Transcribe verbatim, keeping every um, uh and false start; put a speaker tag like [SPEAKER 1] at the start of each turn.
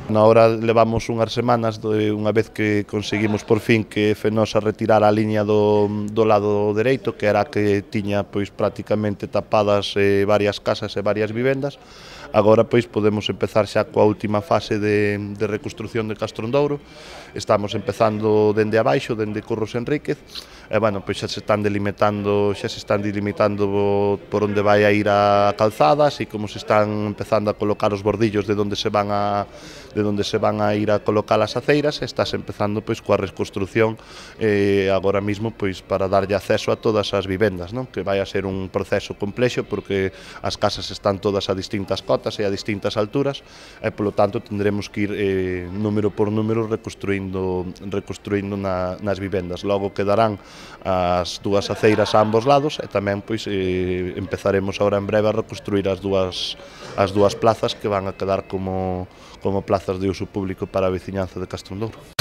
[SPEAKER 1] Na hora levamos unhas semanas, de, unha vez que conseguimos por fin que Fenosa retirara a liña do, do lado dereito, que era a que tiña pois prácticamente tapadas eh, varias casas e varias vivendas. Agora pois podemos empezar xa coa última fase de, de reconstrucción de Castrondouro. Estamos empezando dende abaixo, dende Curros Enríquez, e bueno, pois xa se están delimitando, xa se están delimitando por onde vai a ir a calzada, así como se están empezando a colocar os bordillos de onde se van a de onde se van a ir a colocar as aceiras, e estás empezando pois coa reconstrucción eh, agora mismo pois para darlle acceso a todas as vivendas, non? Que vai a ser un proceso complexo porque as casas están todas a distintas cotas e a distintas alturas, e polo tanto tendremos que ir eh, número por número reconstruindo reconstruindo na, nas vivendas. Logo quedarán as dúas aceiras a ambos lados, e tamén pois eh, empezaremos agora en breve a reconstruir as dúas as dúas plazas que van a quedar como como plazas de uso público para a veciñanza de Castrondouro.